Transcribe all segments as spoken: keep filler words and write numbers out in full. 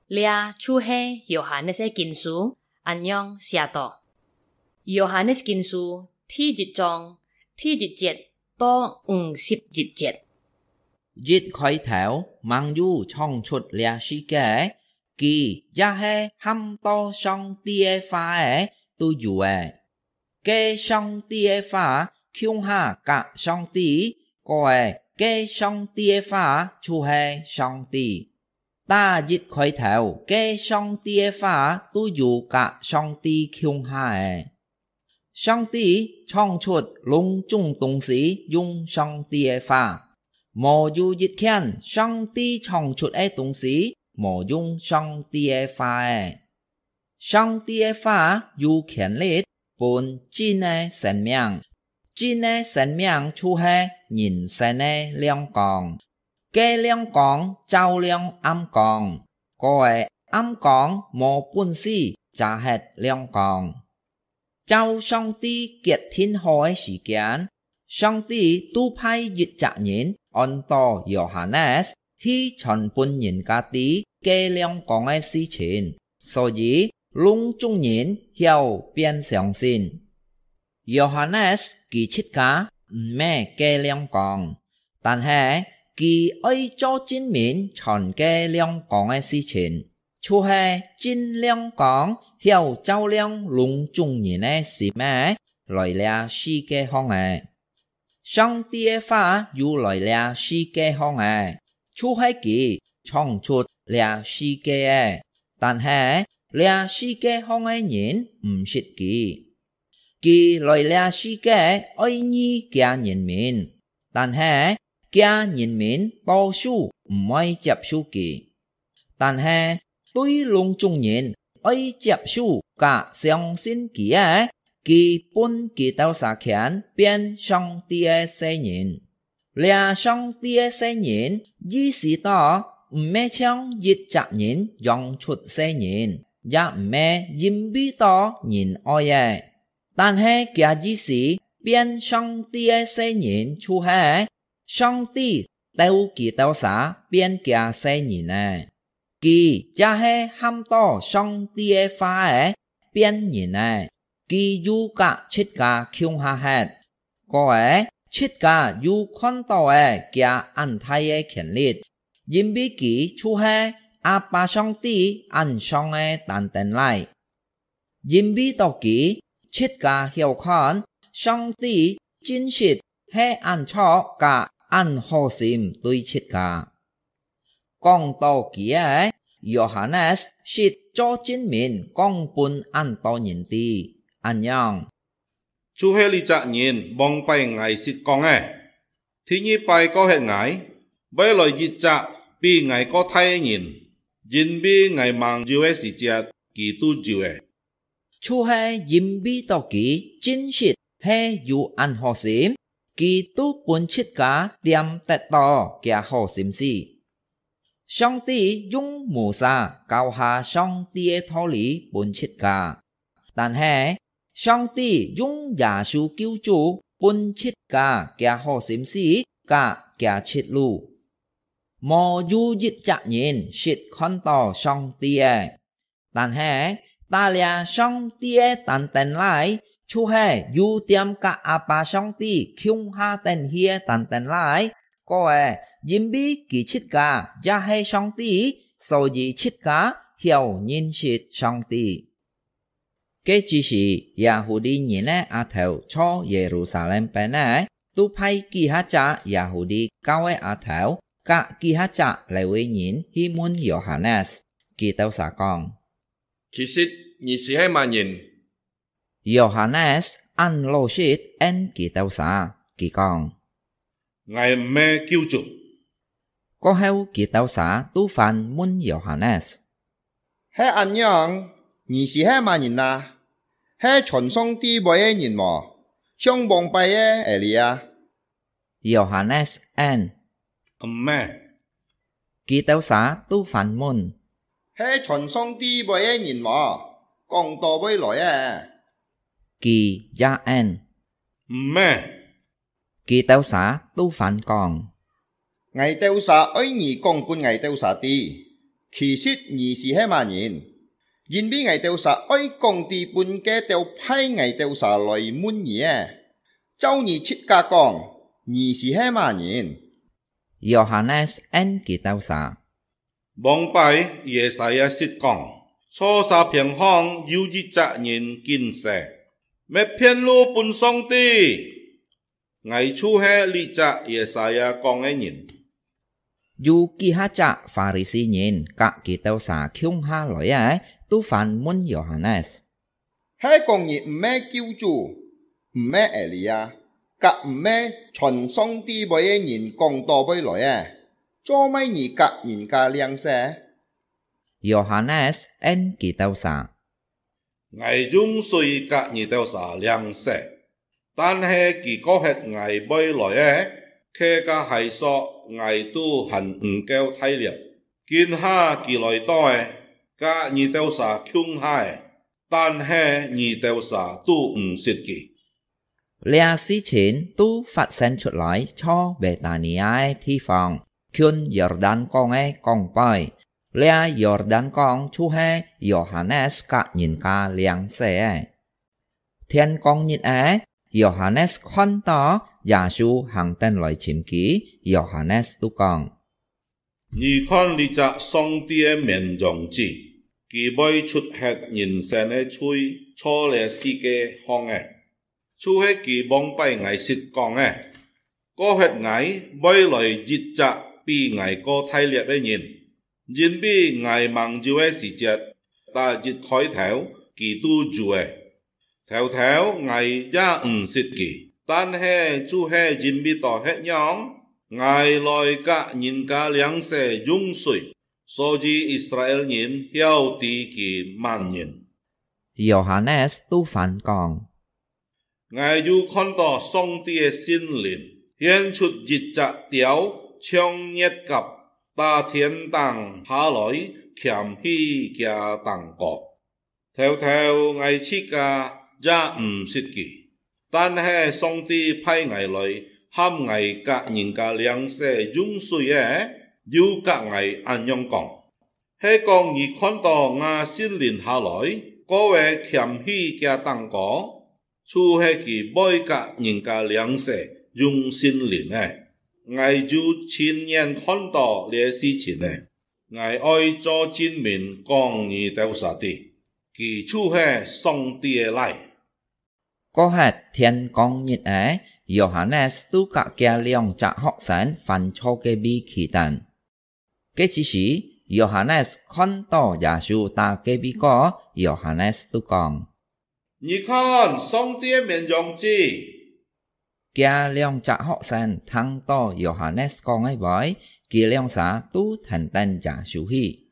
這就係Yohanes个經書，恁樣寫到：Yohanes經書第一章第一節到五十一節。一開頭吂有創出這世界，佢也係喊到上帝个話仔都有个。 該上帝个話共下佮上帝，過仔該上帝个話就係上帝。打一開頭，該上帝个話都有佮上帝共下个。上帝創出攏總東西用上帝个話，無有一件上帝創出个東西無用上帝个話个。 上帝个話有權力分真个生命，真个生命就係人生个亮光。該亮光照亮暗光，過仔暗光無本事遮忒亮光。照上帝決定好个時間， 上帝都派一隻人安到Yohanes去傳分人家知該亮光个事情，所以攏總人曉變相信。Yohanes佢自家毋係該亮光，但係佢愛做證明傳該亮光个事情，就係真亮光曉照亮攏總人个心仔，來這世界項个。 上帝个話有來這世界項个，就係佢創出這世界个，但係這世界項个人毋識佢。佢來這世界愛醫厥人民，但係厥人民多數毋愛接受佢。 但係對攏總人愛接受佮相信佢个，佢分佢兜儕權變上帝个細人。這上帝个細人意思到，毋係像一隻人養出細人，也毋係因為到人愛个，但係厥意思變上帝个細人就係 上帝鬥佢兜儕變厥細人仔。佢也係喊到上帝个話仔變人仔，佢又佮自家共下忒。過仔，自家又看到仔厥恁大个權力，因為佢就係阿爸上帝恁像个單丁倈。 因為到佢，自家曉看，上帝真實係恁著佮恁好心對自家。講到佢仔，Yohanes識做證明講分恁多人知，恁樣。就係這隻人，往擺𠊎識講个， 第二擺過歇𠊎，會來一隻比𠊎過大个人，因為𠊎吂有个時節，佢都有咧。就係因為到佢真實係有恁好心，佢都分自家恬得到厥好心思。上帝用摩西教下上帝个道理分自家， 但係，上帝用耶穌救主分自家厥好心思佮厥出路。無有一隻人識看到上帝个，但係，打這上帝个單丁倈，就係有恬佮阿爸上帝共下等去个單丁倈。過仔，因為佢自家也係上帝，所以自家曉認識上帝。 該之時，Yahudi人个阿頭在Yerusalem邊仔，都派幾下隻Yahudi教个阿頭，佮幾下隻Lewi人去問Yohanes。佢兜儕講：「其實你斯係麼人？」Yohanes恁老實應佢兜儕，佢講： 「𠊎毋係救主。」過後佢兜儕都反問Yohanes：「係恁樣，你斯係麼人啊？係傳上帝話个人無？像往擺个Elia？」Yohanes應：「毋係。」佢兜儕都反問：「係傳上帝話个人無？講到會來个？」佢也應：「毋係。」 佢兜儕都反講：「𠊎兜儕愛你講分𠊎兜儕知。」其實你斯係麼人？因為𠊎兜儕愛講知分該兜派𠊎兜儕來問你个。照你自家講，你斯係麼人？」約翰呢應佢兜儕：「往擺Yesaya識講：坐沙片項有一隻人緊踅，搣片路分上帝。」 𠊎就係這隻Yesaya講个人。有幾下隻法利賽人佮佢兜儕共下來个，都反問約翰呢：「係講你毋係救主，毋係Elia，佮毋係傳上帝話个人講著會來个，做麼你佮人家領洗？」約翰呢應佢兜儕： 𠊎用水佮你兜儕領洗，但係佢過歇𠊎會來个，佢个鞋索𠊎都還毋夠大粒。今下佢來到了，佮你兜儕共下了，但係你兜儕都毋識佢。 這事情都發生出來在Betania个地方，近約旦江个江背。這約旦江就係約翰呢佮人家領洗个。天光日仔，約翰呢看著耶穌行等來尋佢，約翰呢都講： 你看這隻上帝个綿羊子，佢會除忒人生个罪，在這世界項个，就係佢往擺𠊎識講个。過歇𠊎會來一隻比𠊎過大粒个人，因為𠊎吂有个時節，逐一開頭，佢都有了。 頭頭𠊎也毋識佢，但係就係因為到歇樣，𠊎來佮人家領洗用水，所以Israel人曉知佢麼人。約翰呢都反講：𠊎又看著上帝个聖靈現出一隻鳥，像月鴿，打天頂下來，徛起厥頂高。 頭頭𠊎自家也毋識佢，但係上帝派𠊎來，喊𠊎佮人家領洗用水个，又佮𠊎恁樣講：係講你看著吾聖靈下來，過會徛起厥頂高，就係佢會佮人家領洗用聖靈个。𠊎有親眼看著這事情了。 𠊎愛做證明講你兜儕知，佢就係上帝个倈。過歇天光日仔，約翰呢都佮厥兩隻學生翻在隔壁企等。該之時，約翰呢看著耶穌打隔壁過，約翰呢都講：你看，上帝个綿羊子！ 厥兩隻學生聽著約翰呢講个話，佢兩儕都跈等耶穌去。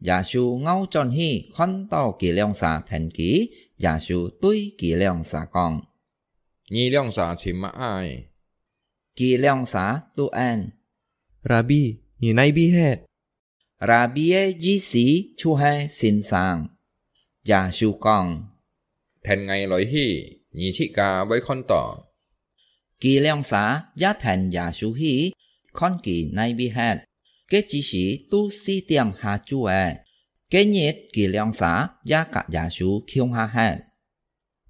耶穌拗轉去，看著佢兩儕跈佢，耶穌對佢兩儕講：你兩儕尋麼个？佢兩儕都應：Rabbi，你哪位歇？ Rabbi个意思就係先生。耶穌講：跈𠊎來去，你自家會看著。佢兩儕也跈耶穌去，看佢哪位歇。該之時都四點下晝了，該日佢兩儕也佮耶穌共下歇。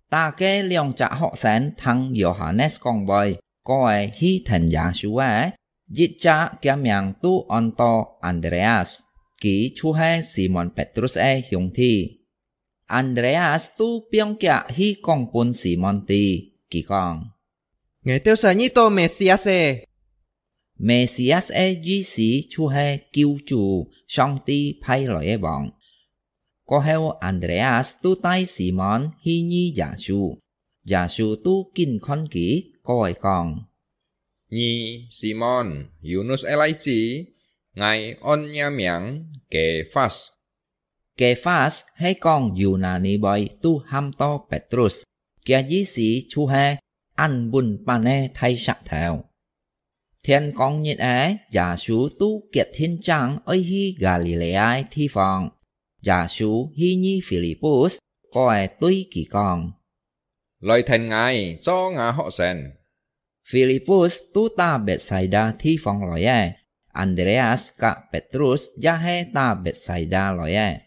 逐个兩隻學生聽約翰呢講話，過會去跈耶穌个，一隻厥名都安到Andreas，佢就係Simon Petrus个兄弟。Andreas都放厥去講分Simon知，佢講：𠊎兜儕遇著Mesias了！Mesias个意思就係救主，上帝派來个王。 過後，Andreas都帶Simon去遇耶穌，耶穌都緊看佢，過會講：你Simon，Yunus个倈子，𠊎安若名Kephas。Kephas係講Yunani話都喊到Petrus，厥意思就係恁穩板个大石頭。天光日仔，耶穌都決定正愛去加里肋亞个地方。 耶穌去遇Filipus，過會對佢講：來跈𠊎做吾學生。Filipus都打Bethsaida地方來个， Andreas甲Petrus也係打Betsaida來个。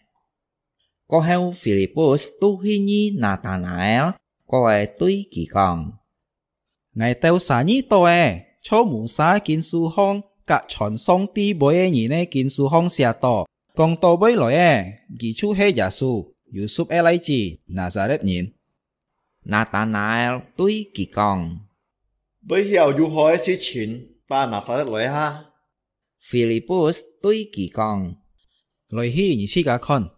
過後，Filipus都去遇拿但拿爾，過來對佢講：「𠊎兜儕遇到个，就Musa經書項甲傳上帝話个人个經書項寫到，講到會來个，佢就係耶穌，Yusuf个倈子，拿撒勒人。」拿但拿爾對佢講：「會曉有好个事情打拿撒勒來哈？」Filipus對佢講：「來去，你自家看。」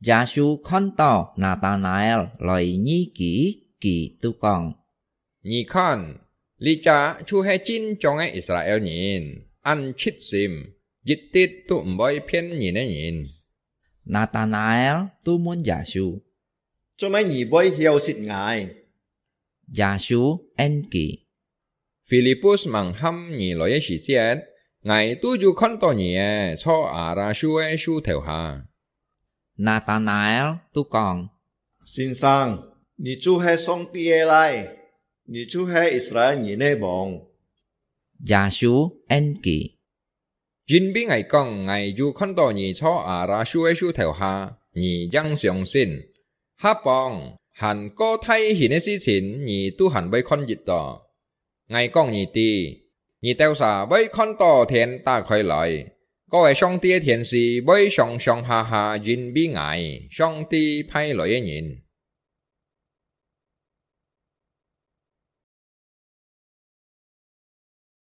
耶穌看到拿但拿爾來遇佢，佢就講：「你看，這隻就係真正个Israel人，恁直心，一滴都毋會騙人个人。」拿但拿爾就問耶穌：「做麼你會曉識𠊎？」耶穌應佢：「Filipus吂喊你來个時節，𠊎都有看到你个，坐阿拉樹个樹頭下。」拿但拿爾就講：「先生，你就係上帝个倈，你就係Israel人个王。」耶穌應佢：「因為𠊎講，𠊎有看到你坐阿拉樹个樹頭下，你正相信。下幫，還過大型个事情，你都還會看得到。𠊎講你知，你兜儕會看到天打開來，該个上帝个天使會上上下下因為𠊎，上帝派來个人，